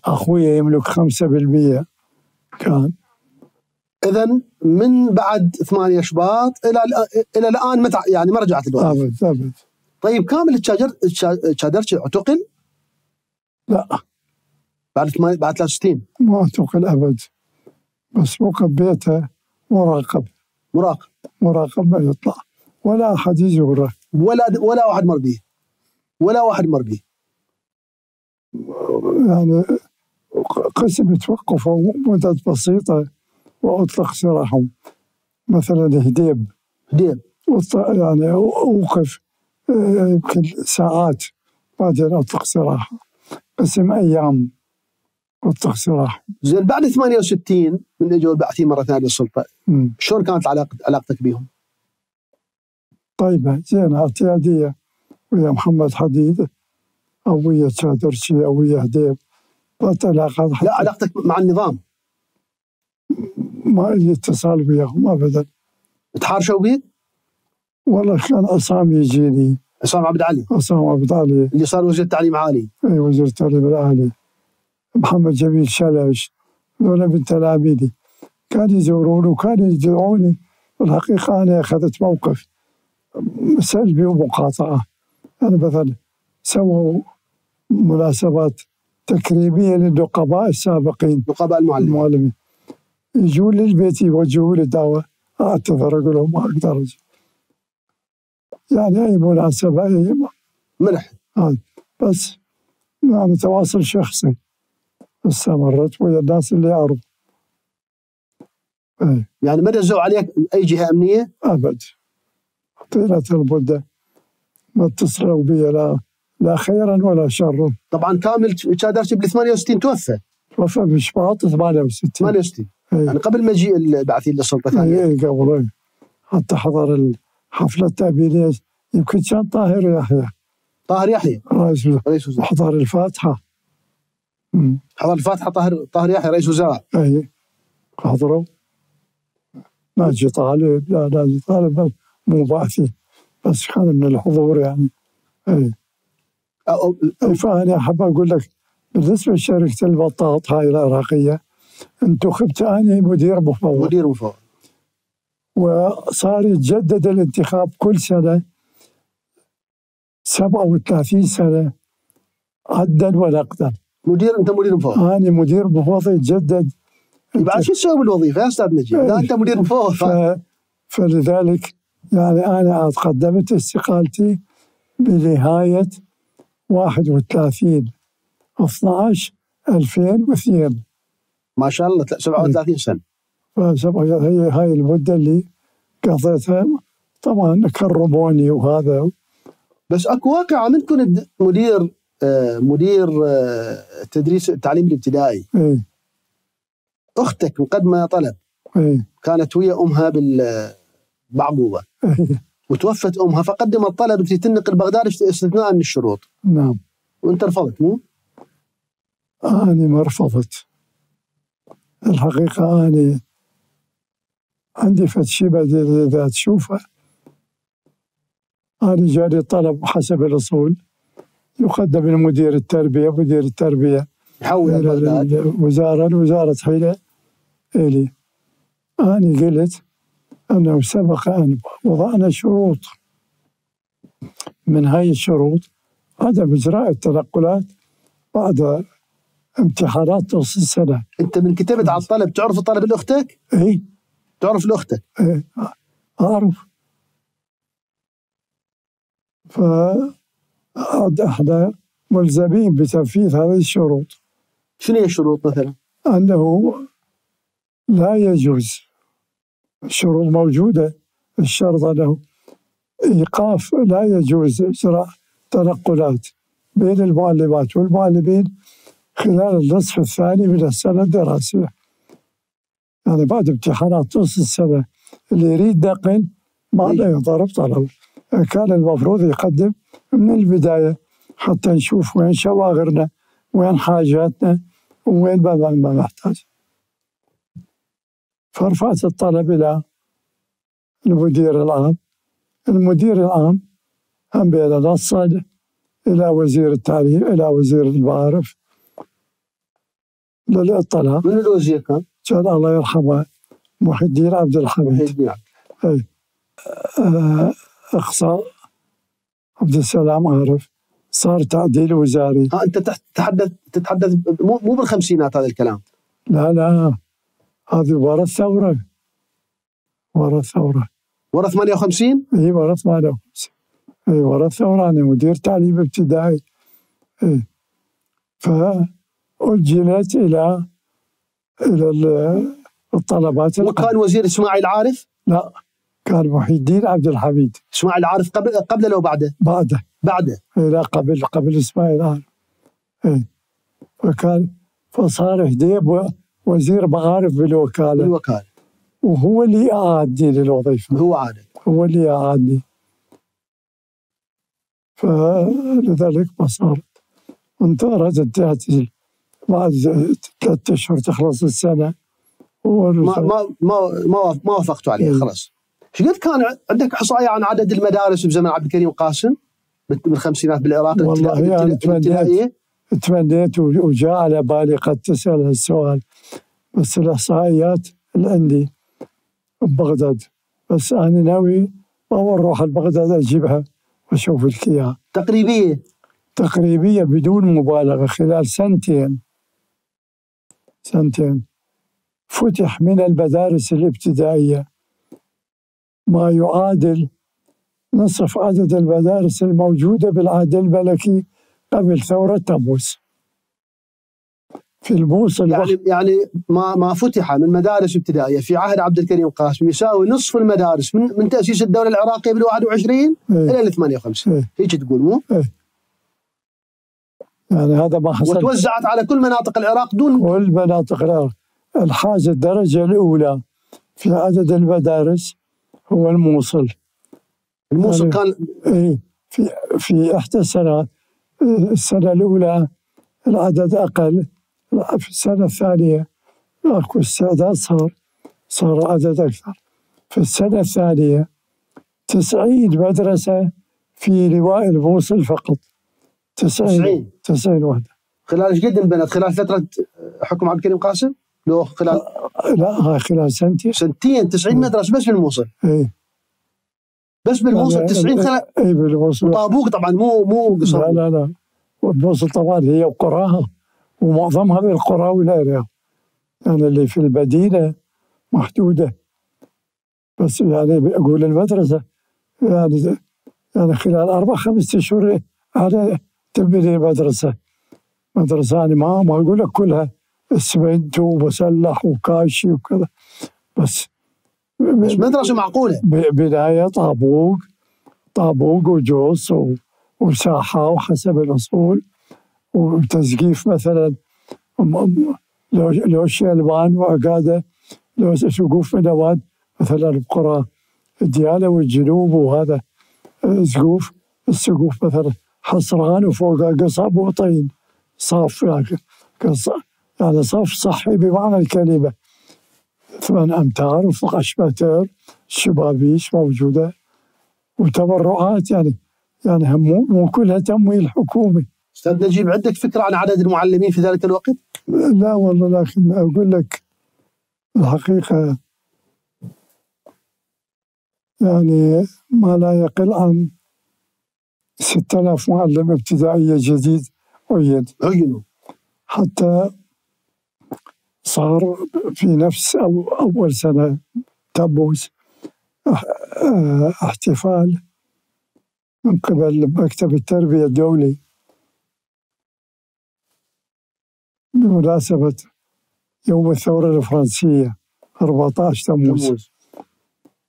أخوي يملك خمسة بالمئة كان. إذن من بعد ثمانية شباط إلى إلى الآن متى يعني ما رجعت الوظيفة؟ أبد أبد. طيب كامل تشادرتش اعتقل؟ لا بعد بعد ثلاثة وستين ما اعتقل أبد، بس موقف بيته مراقب. مراقب مراقب ما يطلع ولا أحد يزوره، ولا ولا واحد مر به، ولا واحد مر به. يعني قسم توقفوا مدة بسيطة وأطلق سراحهم. مثلا هديب هديب يعني أوقف يمكن ساعات بعدين أطلق سراحه. قسم أيام وطخ سراح. زين بعد ثمانية وستين من اجوا البعثيين مره ثانيه للسلطه، شلون كانت علاقه علاقتك بهم؟ طيبه زينه اعتياديه، ويا محمد حديد او ويا شادرشي او ويا هديب، كانت علاقات. لا علاقتك مع النظام؟ ما لي اتصال وياهم ابدا. تحارشوا بيك؟ والله كان عصام يجيني. عصام عبد علي؟ عصام عبد علي اللي صار وزير التعليم العالي. اي وزير التعليم العالي. محمد جميل شلش، هذول من تلاميذي كانوا يزوروني وكانوا يدعوني. والحقيقه انا اخذت موقف سلبي ومقاطعه. انا مثلا سووا مناسبات تكريميه للنقباء السابقين، نقباء المعلمين المعلمين يجون للبيت يوجهوا لي دعوه، اعتذر اقول لهم ما اقدر اجي. يعني اي مناسبه اي ملح هذا بس. يعني تواصل شخصي استمرت ويا الناس اللي يعرف. ايه. يعني ما دزوا عليك اي جهه امنيه؟ ابد. طيله المده ما اتصلوا بي لا لا خيرا ولا شرا. طبعا كامل شادرشي بال ثمانية وستين توفى. توفى بشباط ثمانية وستين. ثمانية وستين ايه. يعني قبل مجيء البعثيين للسلطه ثانيه. اي قبل. حتى حضر الحفله التأبينية يمكن كان طاهر يحيى. طاهر يحيى رئيس رئيس وزراء. حضر الفاتحه. مم. حضر الفاتحه طاهر طاهر يحيى رئيس وزراء. اي حضروا. ناجي طالب، لا ناجي طالب مو بعثي، بس كان من الحضور يعني. اي. أو أو فأنا أحب أقول لك بالنسبة لشركة البطاط هاي العراقية، انتخبت أنا مدير مفوض. مدير مفوض. وصار يتجدد الانتخاب كل سنة سبعة وثلاثين سنة عدا ونقدا. مدير أنت مدير مفوض؟ أنا مدير مفوض يتجدد. بعد شو تسوي بالوظيفة يا أستاذ نجيب؟ لا أنت مدير مفوض. ف... فلذلك يعني أنا عاد قدمت استقالتي بنهاية واحد وثلاثين اثنا عشر ألفين واثنين. ما شاء الله سبعة وثلاثين سنة. هي هاي المدة اللي قضيتها. طبعا كرموني وهذا. بس اكو واقعة من كنت مدير آه مدير آه تدريس التعليم الابتدائي. ايه. اختك مقدمة طلب. ايه. كانت ويا امها بالبعقوبة. ايه. وتوفت امها فقدمت طلب انت تنقل بغداد استثناء من الشروط. نعم. وانت رفضت مو؟ أنا ما رفضت. الحقيقة أنا عندي فد شي إذا تشوفه. أنا جاني طلب حسب الأصول يقدم لمدير التربية، مدير التربية يحول إلى الوزارة، الوزارة حيلة إلي. أنا قلت أنه سبق أن وضعنا شروط، من هاي الشروط عدم إجراء التنقلات بعد امتحانات نص السنة. أنت من كتبت على الطلب تعرف الطلب لأختك؟ إي. تعرف لأختك؟ إي أعرف. فعاد احنا ملزمين بتنفيذ هذه الشروط. شنو هي الشروط مثلا؟ أنه لا يجوز، الشروط موجودة، الشرط أنه إيقاف، لا يجوز إجراء تنقلات بين المعلمات والمعلمين خلال النصف الثاني من السنة الدراسية. يعني بعد امتحانات نصف السنة اللي يريد نقل ما له يضرب طلب. كان المفروض يقدم من البداية حتى نشوف وين شواغرنا، وين حاجاتنا، وين ما نحتاج. فرفعت الطلب إلى المدير العام. المدير العام هم بين نصا إلى وزير التعليم، إلى وزير المعارف للاطلاع. من الوزير كان؟ كان الله يرحمه محي الدين عبد الحميد. اي. اقصى عبد السلام عارف. صار تعديل وزاري. ها انت تتحدث تتحدث مو مو بالخمسينات هذا الكلام. لا لا هذه ورا الثوره. ورا الثوره. ورا ثمانية وخمسين؟ اي ورا ثمانية وخمسين. اي ورا الثوره. انا مدير تعليم ابتدائي. اي. فأجلت الى الى الطلبات. وكان وزير اسماعيل عارف؟ لا كان محي الدين عبد الحميد. اسماعيل عارف قبل قبله لو بعده؟ بعده. بعده. لا قبل قبل اسماعيل عارف. اي. فكان فصار هديب وزير معارف بالوكالة بالوكالة، وهو اللي أعادني للوظيفة. هو عادل هو اللي أعادني، فلذلك ما صارت. انتظرت انتهت بعد ثلاثة أشهر تخلص السنة ما ما ما ما ما وافقتوا عليه خلاص. ايش قد كان عندك احصائيه عن عدد المدارس بزمن عبد الكريم قاسم بالخمسينات بالعراق؟ والله يعني تمنيت تمنيت وجاء على بالي قد تسأل هالسؤال، بس الإحصائيات اللي عندي ببغداد، بس أنا ناوي أول أروح لبغداد أجيبها وأشوف لك إياها. تقريبية تقريبية بدون مبالغة خلال سنتين سنتين فتح من المدارس الابتدائية ما يعادل نصف عدد المدارس الموجودة بالعهد الملكي قبل ثورة تموز في الموصل. يعني يعني ما ما فتح من مدارس ابتدائية في عهد عبد الكريم قاسم يساوي نصف المدارس من من تأسيس الدولة العراقية بال واحد وعشرين ايه إلى ال ثمانية وخمسين. ايه هيك تقول مو؟ ايه يعني هذا ما حصل. وتوزعت على كل مناطق العراق دون كل مناطق العراق. الحاجة الدرجة الأولى في عدد المدارس هو الموصل. الموصل يعني كان ايه في في إحدى السنوات، السنة الأولى العدد أقل، في السنة الثانية أكو استعداد صار صار عدد أكثر. في السنة الثانية تسعين مدرسة في لواء الموصل فقط. تسعين تسعين وحدة. خلال ايش قد انبنت؟ خلال فترة حكم عبد الكريم قاسم؟ لو خلال لا هاي خلال سنتين. سنتين تسعين مدرسة بس بالموصل. اي بس بالموصل تسعين خلال. اي بالموصل. وطابوق طبعا مو مو قصر. لا لا لا والموصل طبعا هي وقراها ومعظمها بالقرى والأرياف، يعني اللي في المدينة محدودة. بس يعني أقول المدرسة يعني يعني خلال أربع خمسة أشهر على تبني مدرسة مدرسة يعني ما ما أقول لك كلها اسمنت ومسلح وكاشي وكذا، بس بس مدرسة معقولة. بداية طابوق طابوق وجوس وساحة وحسب الأصول وتسقيف مثلا لو لو شيلبان وعقادة، لو سقوف منواد مثلا بقرى ديالى والجنوب وهذا سقوف السقوف مثلا حصران وفوقها قصب وطين صاف يعني يعني صف صحي بمعنى الكلمة، ثمان أمتار وفوق متر، شبابيش موجودة وتبرعات يعني يعني مو مو كلها تمويل حكومي. أستاذ نجيب عندك فكرة عن عدد المعلمين في ذلك الوقت؟ لا والله، لكن أقول لك الحقيقة يعني ما لا يقل عن ستة آلاف معلم ابتدائية جديد عين عينوا، حتى صار في نفس أو أول سنة تموز احتفال من قبل مكتب التربية الدولي بمناسبة يوم الثورة الفرنسية أربعة عشر تموز.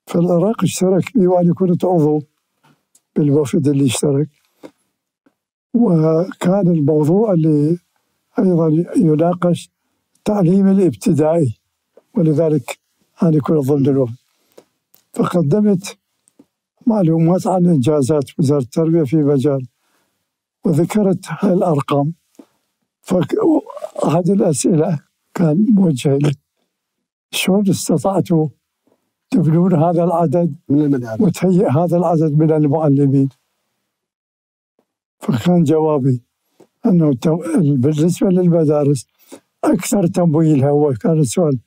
في العراق اشترك بي وأنا كنت عضو بالوفد اللي اشترك، وكان الموضوع اللي أيضا يناقش التعليم الابتدائي، ولذلك أنا كنت ضمن الوفد. فقدمت معلومات عن إنجازات وزارة التربية في مجال، وذكرت هاي الأرقام. فأحد الأسئلة كان موجه لي: شلون استطعتوا تبنون هذا العدد من المدارس وتهيئ هذا العدد من المعلمين؟ فكان جوابي أنه بالنسبة للمدارس أكثر تمويلها، هو كان السؤال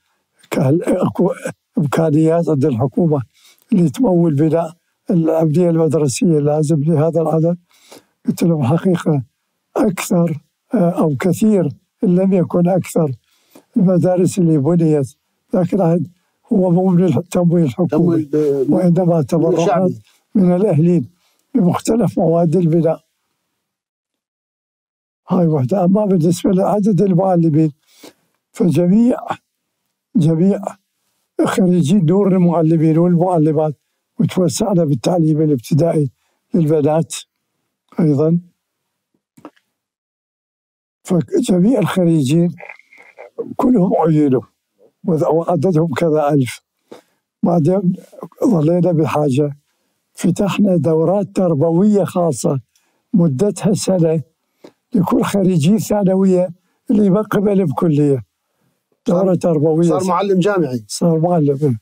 أكو إمكانيات عند الحكومة اللي تمول بناء الأبنية المدرسية لازم لهذا العدد؟ قلت لهم حقيقة أكثر أو كثير إن لم يكن أكثر المدارس اللي بنيت ذاك العهد هو مو من التمويل الحكومي، وإنما تبرعات من الأهلين بمختلف مواد البناء. هاي وحدة. أما بالنسبة لعدد المعلمين فجميع جميع خريجي دور المعلمين والمعلمات، وتوسعنا بالتعليم الابتدائي للبنات أيضا، فجميع الخريجين كلهم عينوا وعددهم كذا ألف. بعدين ظلينا بحاجة، فتحنا دورات تربوية خاصة مدتها سنة لكل خريجي ثانوية اللي ما قبل بكلية، دورة تربوية. صار معلم جامعي. صار معلم.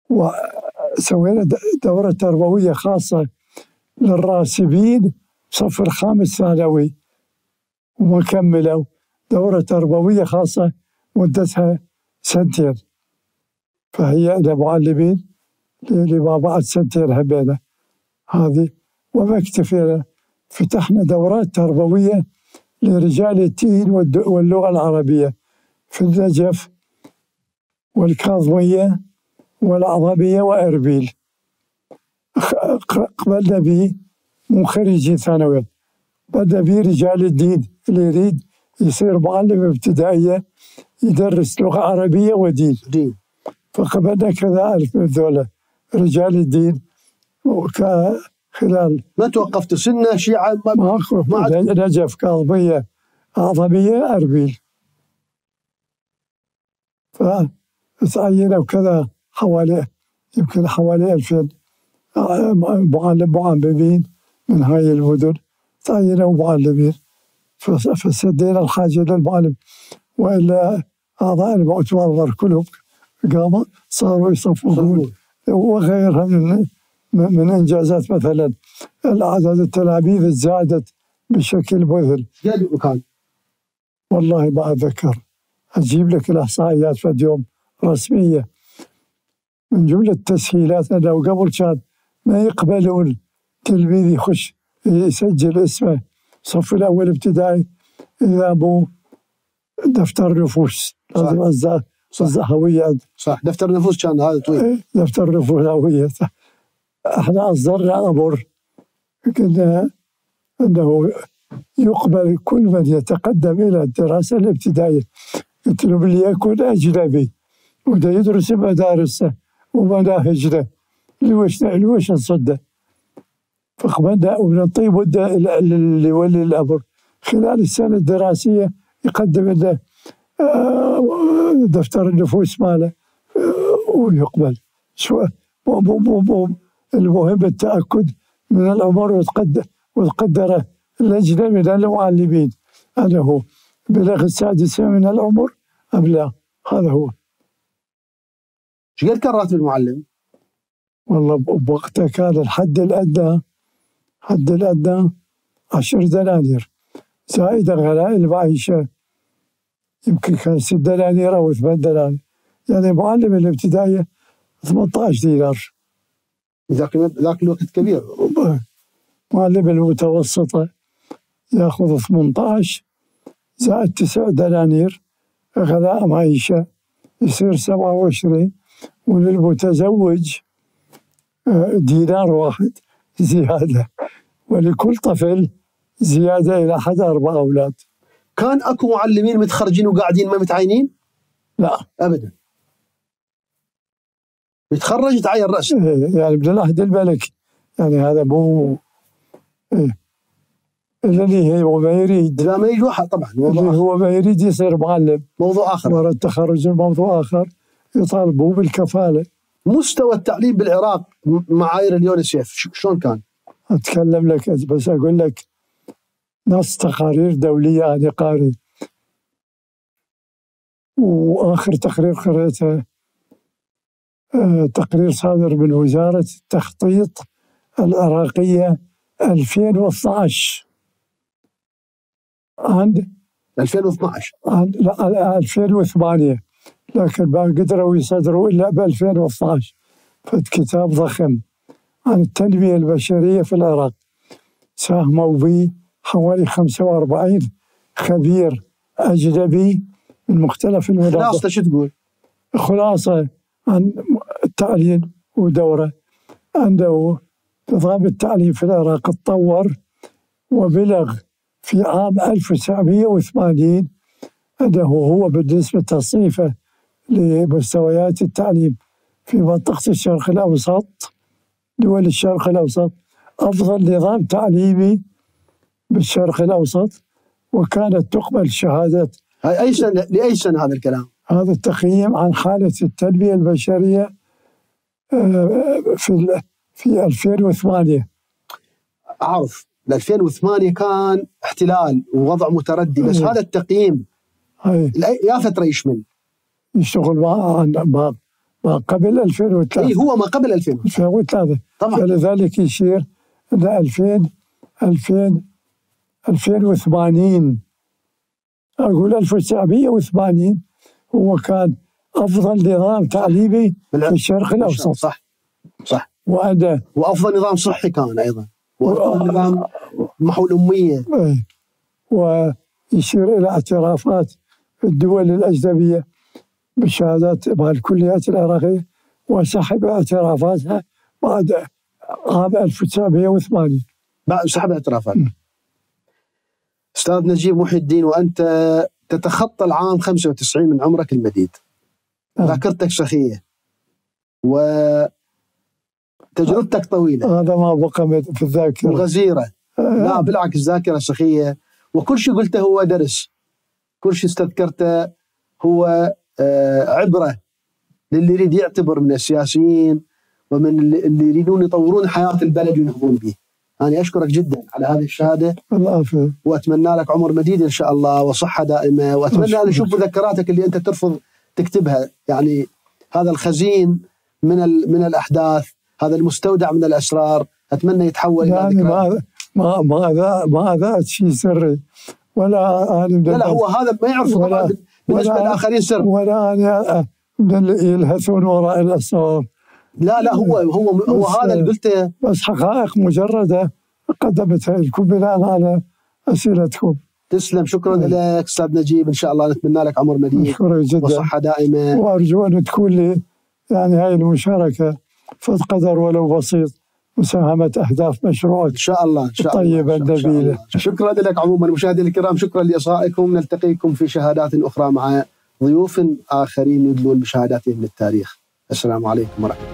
وسوينا دورة تربوية خاصة للراسبين صف الخامس ثانوي وما كملوا، دورة تربوية خاصة مدتها سنتين. فهي أنا معلمين اللي ما بعد سنتين همينة هذه. وما اكتفينا، فتحنا دورات تربوية لرجال الدين واللغة العربية في النجف والكاظمية والعظمية وإربيل. قبلنا به مو خريجي ثانوي، قبلنا به رجال الدين اللي يريد يصير معلم ابتدائية يدرس لغة عربية ودين دين. فقبلنا كذا ألف من ذولا رجال الدين. خلال ما توقفتوا سنة شيعة؟ ماكو. نجف، كاظمية، أعظمية، أربيل. فتعينوا كذا حوالي يمكن حوالي ألفين معلم معلمين من هاي المدن، تعينوا معلمين فسدينا الحاجة للمعلم. وإلا أعضاء المؤتمر كلهم قاموا صاروا يصفقون وغيرها من من إنجازات. مثلا العدد التلاميذ زادت بشكل مذهل. قد كان والله ما أتذكر، أجيب لك الإحصائيات في يوم رسمية. من جملة التسهيلات أنه قبل كان ما يقبلون تلميذ يخش يسجل اسمه صف الأول ابتدائي إذا مو دفتر نفوس، لازم الزهوية. صح، دفتر نفوس كان هذا طويل. دفتر نفوس هوية. احنا أصدرنا أمر قلنا أنه يقبل كل من يتقدم إلى الدراسة الابتدائية، قلت له ليكن أجنبي وده يدرس مدارسه ومناهجنا لوش لوش نصده. فقبلنا ونعطيه مدة اللي يولي الأمر خلال السنة الدراسية يقدم لنا دفتر النفوس ماله ويقبل. شو المهم التأكد من الأمر وتقدر وتقدره اللجنة من المعلمين أنه بلغ السادسة من العمر أم لا. هذا هو. شو قد كان راتب المعلم؟ والله بوقتها كان الحد الأدنى حد الأدنى عشر دنانير زائد غلاء المعيشة، يمكن كان ست دنانير أو ثمان دنانير. يعني معلم الابتدائية ثمانية عشر دينار. ذاك ذاك الوقت كبير. معلم المتوسطة ياخذ ثمانية عشر زائد تسع دنانير غلاء معيشة يصير سبعة وعشرين، وللمتزوج دينار واحد زيادة، ولكل طفل زيادة إلى حد أربع أولاد. كان أكو معلمين متخرجين وقاعدين ما متعينين؟ لا أبدا، يتخرج يتعين رأسه. يعني من العهد الملكي، يعني هذا مو إيه. اللي هو ما يريد، لا ما يريد واحد طبعا، اللي هو ما يريد يصير معلم موضوع آخر. ورا التخرج موضوع آخر، يطالبوا بالكفالة. مستوى التعليم بالعراق معايير اليونيسيف شلون كان؟ أتكلم لك بس أقول لك نص تقارير دولية أنا قاري، وآخر تقرير قريته آه تقرير صادر من وزارة التخطيط العراقية ألفين واثني عشر عند ألفين واثني عشر عند لا ألفين وثمانية، لكن ما قدروا يصدروا إلا ب ألفين واثني عشر. فكتاب ضخم عن التنمية البشرية في العراق، ساهموا به حوالي خمسة وأربعين خبير أجنبي من مختلف المناطق. خلاصة شو تقول؟ خلاصة عن التعليم ودوره أنه نظام التعليم في العراق تطور وبلغ في عام ألف وتسعمئة وثمانين أنه هو بالنسبة تصنيفه لمستويات التعليم في منطقة الشرق الأوسط، دول الشرق الأوسط، أفضل نظام تعليمي بالشرق الأوسط. وكانت تقبل شهادة هاي أي سنة لأي سنة هذا الكلام؟ هذا التقييم عن حالة التنمية البشرية في في ألفين وثمانية. أعرف ألفين وثمانية كان احتلال ووضع متردي، بس هذا التقييم هاي يا فترة يشمل يشتغل مع ما ما قبل ألفين وثلاثة. اي هو ما قبل ألفين وثلاثة طبعا. فلذلك يشير إلى ألفين ألفين ألفين وثمانين، أقول ألف وتسعمئة وثمانين هو كان أفضل نظام تعليمي في الشرق الأوسط. صح صح. وأنا وأفضل نظام صحي كان أيضا، وأفضل نظام محو الأمية. ويشير إلى اعترافات الدول الأجنبية بالشهادات مع الكليات العراقية، وسحب اعترافاتها بعد عام ألف وتسعمئة وثمانين. بعد سحب الاعترافات. أستاذ نجيب محي الدين، وأنت تتخطى العام خمسة وتسعين من عمرك المديد. ذاكرتك سخية وتجربتك طويلة. هذا ما بقى في الذاكرة. وغزيرة. لا بالعكس، ذاكرة سخية، وكل شيء قلته هو درس، كل شيء استذكرته هو عبرة للي يريد يعتبر من السياسيين ومن اللي يريدون يطورون حياة البلد وينهضون به. أنا أشكرك جدا على هذه الشهادة. العافية. وأتمنى لك عمر مديد إن شاء الله وصحة دائمة، وأتمنى أن نشوف مذكراتك اللي أنت ترفض تكتبها، يعني هذا الخزين من من الأحداث، هذا المستودع من الأسرار، أتمنى يتحول يعني إلى ما ما ما ما ذات شيء سري ولا أنا. لا لا هو هذا ما يعرفه طبعا بالنسبة للآخرين سر، ولا أنا من اللي يلهثون وراء الأسرار. لا لا هو هو هو هذا اللي قلته، بس حقائق مجردة قدمتها لكم بناء على أسئلتكم. تسلم، شكرا لك أستاذ نجيب، إن شاء الله نتمنى لك عمر مديد وصحة دائمة، وأرجو أن تكون لي يعني هاي المشاركة فض قدر ولو بسيط مساهمة أهداف مشروعك إن شاء الله إن شاء الله الطيبة النبيلة. شكرا لك عموما. مشاهدينا الكرام، شكرا لإصغائكم، نلتقيكم في شهادات أخرى مع ضيوف آخرين يدلون بشهاداتهم للتاريخ. السلام عليكم ورحمة الله.